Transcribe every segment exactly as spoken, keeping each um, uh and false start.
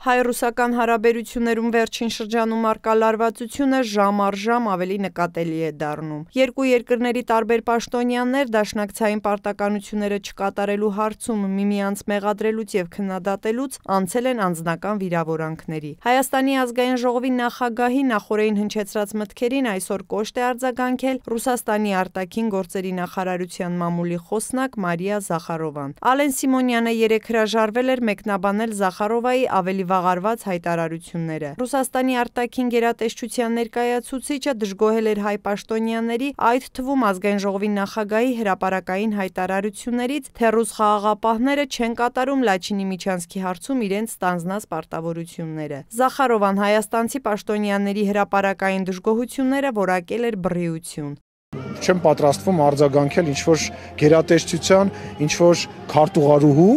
Հայ-ռուսական հարաբերություններում վերջին շրջանում առկա լարվածությունը ժամ առ ժամ ավելի նկատելի է դառնում։ Երկու երկրների տարբեր պաշտոնյաներ դաշնակցային պարտականությունները չկատարելու հարցում միմյանց մեղադրելուց և քննադատելուց անցել են անձնական վիրավորանքների։ Հայաստանի ազգային ժողովի նախագահի նախօրեին հնչեցրած մտքերին այսօր կոշտ է արձագանքել Ռուսաստանի արտաքին գործերի նախարարության մամուլի խոսնակ Մարիա Զախարովան։ Ալեն Սիմոնյանը երեկ հրաժարվել էր մեկնաբանել Զախարովայի ավելի վաղարված հայտարարությունները։ Ռուսաստանի արտաքին գերատեսչության ներկայացուցիչը դժգոհել էր հայ պաշտոնյաների, այդ թվում ազգային ժողովի նախագահի հրապարակային հայտարարություններից, թե ռուս խաղաղապահները չեն կատարում Լաչինի միջանցքի հարցում իրենց ստանձնած պարտավորությունները։ Զախարովան հայաստանցի պաշտոնյաների հրապարակային դժգոհությունները որակել էր բռիություն։ Չեմ պատրաստվում արձագանքել ինչ-որ գերատեսչության, ինչ-որ քարտուղարուհու,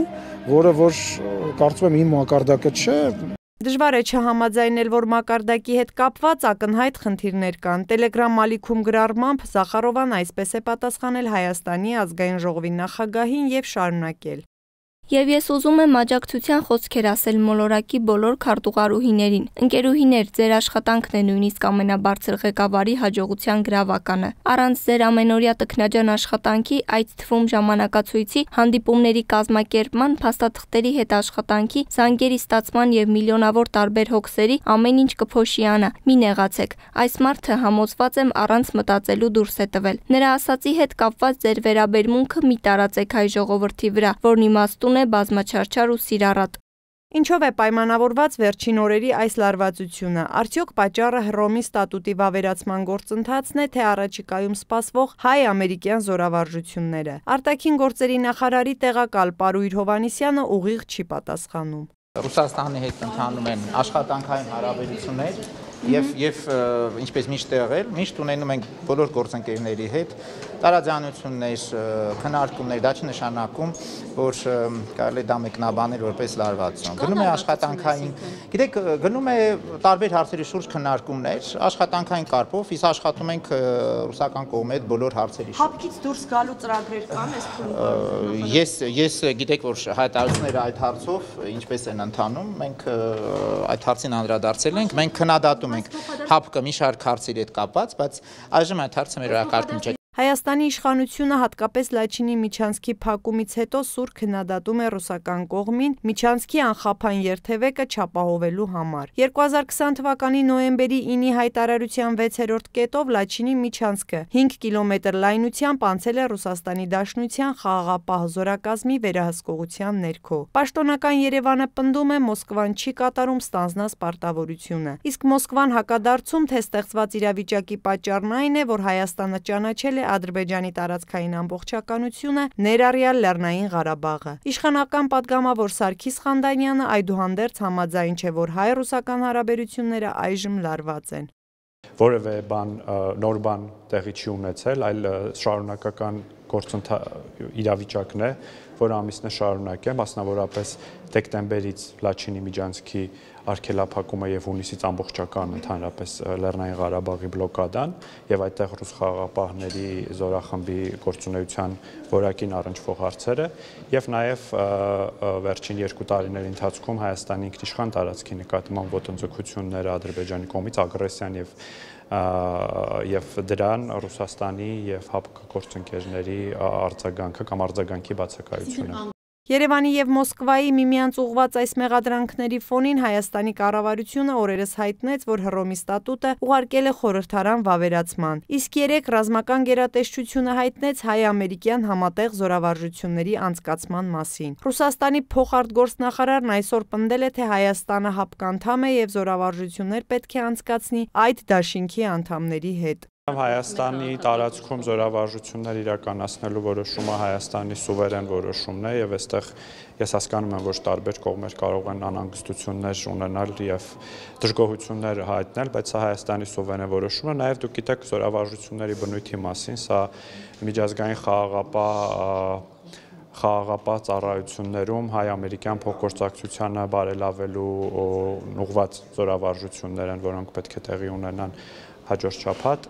որը որ կարծում եմ իմ մակարդակը չէ։ Դժվար է չհամաձայնել, որ մակարդակի հետ կապված ակնհայտ խնդիրներ կան։ Տելեգրամ ալիքում գրառմամբ Զախարովան այսպես է պատասխանել Հայաստանի ազգային ժողովի նախագահին և շարունակել. Եվ ես ուզում եմ աջակցության խոսքեր ասել մոլորակի բոլոր քարտուղարուհիներին։ Ընկերուհիներ, ձեր աշխատանքն է նույնիսկ ամենաբարձր ղեկավարի հաջողության գրավականը։ Առանց ձեր ամենօրյա տքնաջան աշխատանքի, այդ թվում ժամանակացույցի, հանդիպումների կազմակերպման, փաստաթղթերի հետ աշխատանքի, զանգերի ստացման և միլիոնավոր տարբեր հոգսերի ամեն ինչ կփոշիանա։ Մի նեղացեք։ Այս մարդը համոզված եմ առանց մտածելու դուրս է տվել։ Նրա ասածի հետ կապված ձեր վերաբերմունքը մի տարածեք հայ ժողովրդի վրա, որն իմաստուն է բազմաչարչար ու սիրառատ։ Ինչով է պայմանավորված վերջին օրերի այս լարվածությունը։ Արդյոք պատճառը Հռոմի ստատուտի վավերացման գործընթացն է, թե առաջիկայում սպասվող հայ-ամերիկյան զորավարժությունները։ Արտաքին գործերի նախարարի տեղակալ Պարույր Հովհաննիսյանը ուղիղ չի պատասխանում։ Ռուսաստանի հետ ընթանում են աշխատանքային հարաբերություններ եւ եւ ինչպես միշտ եղել, միշտ ունենում ենք բոլոր գործընկերների հետ տարաձայնություններ, քննարկումներ, դա չնշանակում, որ կարելի է դա մեկնաբանել որպես լարվածություն։ Գնում է աշխատանքային, գիտեք, գնում է տարբեր հարցերի շուրջ քննարկումներ, աշխատանքային կարգով, իսկ աշխատում ենք ռուսական կողմի հետ բոլոր հարցերի շուրջ։ Հապկից դուրս գալու ծրագրեր կան այս փուլում։ Ես ես գիտեք, որ հայտարարությունները այդ հարցով ինչպես են ընթանում, մենք այդ հարցին անդրադարձել ենք, մենք քննադատում ենք հապկը մի շարք հարցերի հետ կապված, բայց այժմ այդ հարցը մեր օրակարգում չէ։ Հայաստանի իշխանությունը հատկապես Լաչինի միջանցքի փակումից հետո սուր քննադատում է ռուսական կողմին միջանցքի անխափան երթևեկը չապահովելու համար։ երկու հազար քսան թվականի նոյեմբերի ինի հայտարարության վեցերորդ կետով Լաչինի միջանցքը հինգ կիլոմետր լայնությամբ անցել է Ռուսաստանի Դաշնության խաղաղապահ զորակազմի վերահսկողության ներքո։ Պաշտոնական Երևանը պնդում է Մոսկվան չի կատարում ստանձնած պարտավորությունը։ Իսկ Մոսկվան հակադարձում, թե ստեղծված իրավիճակի պատճառն այն է, որ Հայաստանը ճանաչել է Ադրբեջանի տարածքային ամբողջականությունը, ներառյալ Լեռնային Ղարաբաղը։ Իշխանական պատգամավոր Սարգիս Խանդանյանը այդուհանդերձ համաձայն չէ, որ հայ-ռուսական հարաբերությունները այժմ լարված են։ Որևէ բան նոր բան տեղի չի ունեցել, այլ շարունակական գործընթաց իրավիճակն է, որ ամիսն է շարունակել, մասնավորապես դեկտեմբերից Լաչինի միջանցքի արգելափակումը եւ հունիսից ամբողջական ընդհանրապես Լեռնային Ղարաբաղի բլոկադան եւ այդտեղ ռուս խաղաղապահների զորախմբի գործունեության որակին առնչվող հարցերը եւ նաեւ վերջին երկու տարիների ընթացքում Հայաստանի ինքնիշխան տարածքի նկատմամբ ոտնձգությունները Ադրբեջանի կողմից ագրեսիան եւ եւ դրան Ռուսաստանի եւ ՀԱՊԿ գործընկերների արձագանքը կամ արձագանքի բացակայությունը։ Երևանի և Մոսկվայի միմյանց ուղղված այս մեղադրանքների ֆոնին Հայաստանի կառավարությունը օրերս հայտնեց, որ Հռոմի ստատուտը ուղարկել է խորհրդարան վավերացման։ Իսկ երեկ ռազմական գերատեսչությունը հայտնեց հայ-ամերիկյան համատեղ զորավարժությունների անցկացման մասին։ Ռուսաստանի փոխարտգործնախարարն այսօր պնդել է, թե Հայաստանը ՀԱՊԿ անդամ է և զորավարժություններ պետք է անցկացնի այդ դաշինքի անդամների հետ։ Հայաստանի տարածքում զորավարժություններ իրականացնելու որոշումը Հայաստանի սուվերեն որոշումն է եւ այստեղ ես հասկանում եմ, որ տարբեր կողմեր կարող են անհանգստություններ ունենալ եւ դժգոհություններ հայտնել, բայց սա Հայաստանի սուվերեն որոշումն է։ Նաեւ դուք գիտեք զորավարժությունների բնույթի մասին, սա միջազգային խաղաղապահ խաղաղապահ ծառայություններում հայ-ամերիկյան փոխգործակցությանը բարելավելու ուղղված զորավարժություններ են, որոնք պետք է տեղի ունենան հաջորդ շաբաթ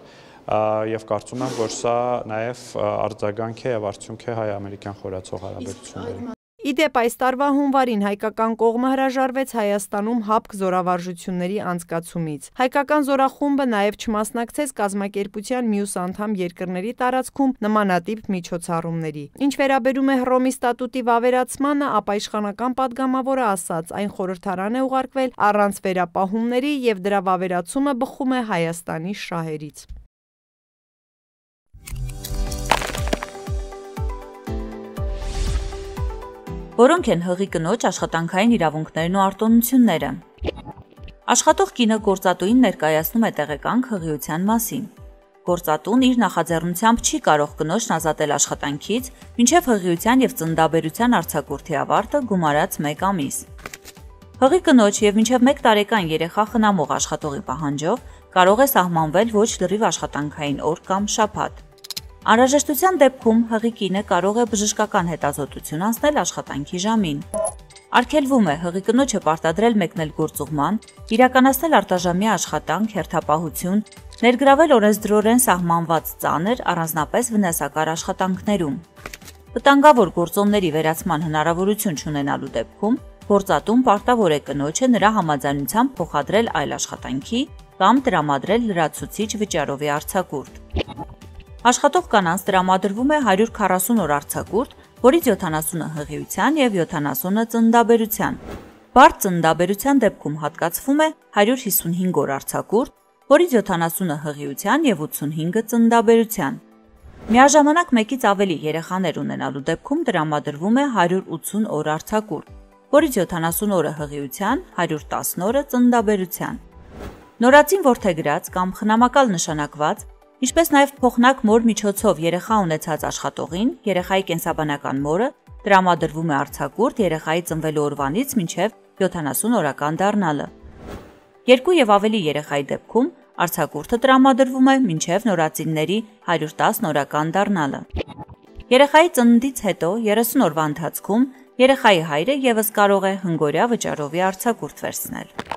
եւ կարծում եմ, որ սա նաեւ արձագանք է եւ արդյունք է հայ-ամերիկյան խորացող հարաբերությունների։ Իդեպ այս տարվա հունվարին հայկական կողմը հրաժարվեց Հայաստանում հապկ զորավարժությունների անցկացումից։ Հայկական զորախումբը նաև չմասնակցեց կազմակերպության մյուս անդամ երկրների տարածքում նմանատիպ միջոցառումների։ Ինչ վերաբերում է Հռոմի ստատուտի վավերացմանը, ապա իշխանական падգամավորը ասաց, այն խորհրդարան է ուղարկվել առանց վերապահումների եւ դրա վավերացումը բխում է Հայաստանի շահերից։ Որոնք են հղի կնոջ աշխատանքային իրավունքներն ու արտոնությունները։ Աշխատող կինը գործատուին ներկայացնում է տեղեկանք հղիության մասին։ Գործատուն իր նախաձեռնությամբ չի կարող կնոջն ազատել աշխատանքից, մինչև հղիության եւ ծննդաբերության արձակուրդի ավարտը գումարած մեկ ամիս։ Հղի կնոջ եւ մինչև մեկ տարեկան երեխա խնամող աշխատողի պահանջով կարող է սահմանվել ոչ լրիվ աշխատանքային օր կամ շաբաթ։ Անհրաժեշտության դեպքում հղի կինը կարող է բժշկական հետազոտություն անցնել աշխատանքի ժամին։ Արգելվում է հղի կնոջը պարտադրել մեկնել գործուղման, իրականացնել արտաժամյա աշխատանք, հերթապահություն, ներգրավել օրենսդրորեն սահմանված ծանր, առանձնապես վնասակար աշխատանքներում։ Վտանգավոր գործոնների վերացման հնարավորություն չունենալու դեպքում գործատուն պարտավոր է կնոջը նրա համաձայնությամբ փոխադրել այլ աշխատանքի կամ տրամադրել լրացուցիչ վճարովի արձակուրդ։ Աշխատող կանանց տրամադրվում է հարյուր քառասուն օր արձակուրդ, որից յոթանասունը հղիության եւ յոթանասունը ծննդաբերության։ Բարդ ծննդաբերության դեպքում հատկացվում է հարյուր հիսունհինգ օր արձակուրդ, որից յոթանասունը հղիության եւ ութսունհինգը ծննդաբերության։ Միաժամանակ մեկից ավելի երեխաներ ունենալու դեպքում տրամադրվում է հարյուր ութսուն օր արձակուրդ, որից յոթանասուն օրը հղիության, հարյուր տասն օրը ծննդաբերության։ Նորածին որդեգրած կամ խնամակալ նշանակված, ինչպես նաև փոխնակ մոր միջոցով երեխա ունեցած աշխատողին, երեխայի կենսաբանական մորը տրամադրվում է արձակուրդ երեխայի ծնվելու օրվանից մինչև յոթանասուն օրական դառնալը։ Երկու եւ ավելի երեխայի դեպքում արձակուրդը տրամադրվում է մինչև նորածինների հարյուր տասն օրական դառնալը։ Երեխայի ծննդից հետո երեսուն օրվա ընթացքում երեխայի հայրը եւս կարող է հնգօրյա վճարովի արձակուրդ վերցնել։